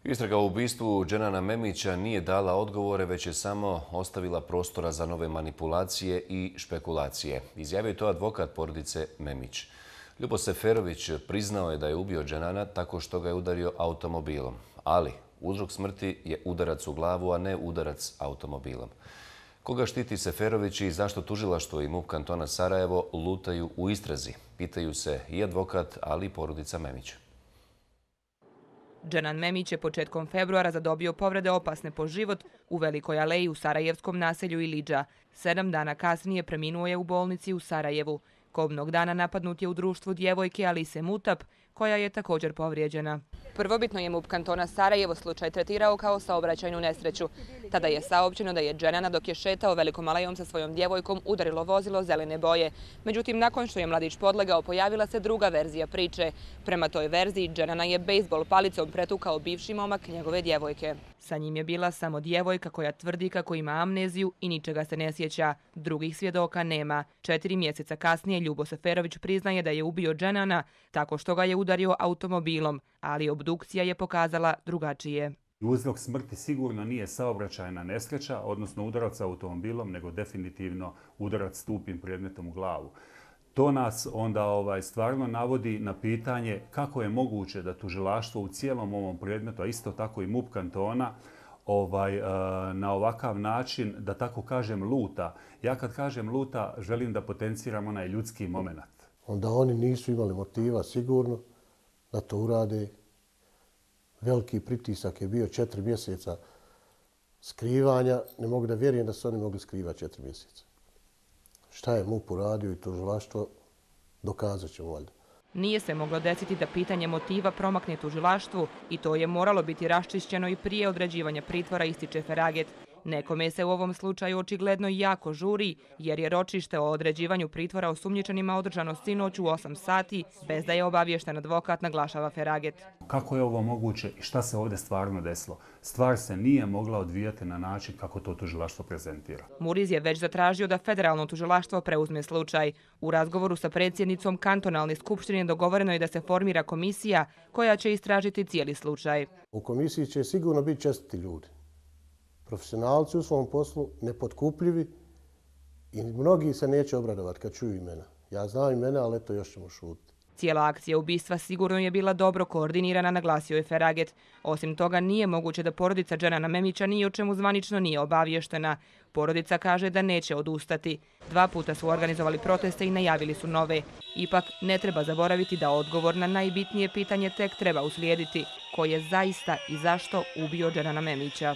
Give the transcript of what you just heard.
Istraga o ubistvu Dženana Memića nije dala odgovore, već je samo ostavila prostora za nove manipulacije i špekulacije. Izjavio je to advokat porodice Memić. Ljubo Seferović priznao je da je ubio Dženana tako što ga je udario automobilom. Ali uzrok smrti je udarac u glavu, a ne udarac automobilom. Koga štiti Seferović i zašto tužilaštvo i MUP kantona Sarajevo lutaju u istrazi? Pitaju se i advokat, ali i porodica Memića. Dženan Memić je početkom februara zadobio povrede opasne po život u Velikoj aleji u sarajevskom naselju Ilidža. 7 dana kasnije preminuo je u bolnici u Sarajevu. Kobnog dana napadnut je u društvu djevojke Alise Mutap, koja je također povrijeđena. Prvobitno je MUP kantona Sarajevo slučaj tretirao kao saobraćajnu nesreću. Tada je saopćeno da je Dženana dok je šetao Velikom alejom sa svojom djevojkom udarilo vozilo zelene boje. Međutim, nakon što je mladić podlegao, pojavila se druga verzija priče. Prema toj verziji, Dženana je bejzbol palicom pretukao bivši momak njegove djevojke. Sa njim je bila samo djevojka koja tvrdi kako ima amneziju i ničega se ne sjeća. Drugih svjedoka nema. 4 mjeseca kasnije Ljubo Seferović priznaje da je ubio Dženana tako što ga je udario automobilom, ali obdukcija je pokazala drugačije. Uzrok smrti sigurno nije saobraćajna nesreća, odnosno udarac automobilom, nego definitivno udarac stupim predmetom u glavu. To nas onda stvarno navodi na pitanje kako je moguće da tužilaštvo u cijelom ovom predmetu, a isto tako i MUP kantona, na ovakav način, da tako kažem, luta. Ja kad kažem luta, želim da potenciram onaj ljudski moment. Onda oni nisu imali motiva sigurno da to urade. Veliki pritisak je bio 4 mjeseca skrivanja. Ne mogu da vjerujem da su oni mogli skrivati 4 mjeseca. Šta je MUP uradio i tužilaštvo, dokazat ćemo valjda. Nije se moglo desiti da pitanje motiva promakne tužilaštvu i to je moralo biti raščišćeno i prije određivanja pritvora, ističe Feraget. Nekome se u ovom slučaju očigledno jako žuri, jer je ročište o određivanju pritvora osumnjičenima održano sinoć u 8 sati, bez da je obaviješten advokat, naglašava Feraget. Kako je ovo moguće i šta se ovdje stvarno desilo? Stvar se nije mogla odvijati na način kako to tužilaštvo prezentira. Muriz je već zatražio da federalno tužilaštvo preuzme slučaj. U razgovoru sa predsjednicom kantonalne skupštine dogovoreno je da se formira komisija koja će istražiti cijeli slučaj. U komisiji će sigurno biti čestiti ljudi. Profesionalci u svom poslu, nepotkupljivi i mnogi se neće obradovati kad čuju imena. Ja znam imena, ali eto još ćemo šutiti. Cijela akcija ubistva sigurno je bila dobro koordinirana, naglasio je Feraget. Osim toga, nije moguće da porodica Dženana Memića ni o čemu zvanično nije obavještena. Porodica kaže da neće odustati. 2 puta su organizovali proteste i najavili su nove. Ipak, ne treba zaboraviti da odgovor na najbitnije pitanje tek treba uslijediti. Ko je zaista i zašto ubio Dženana Memića?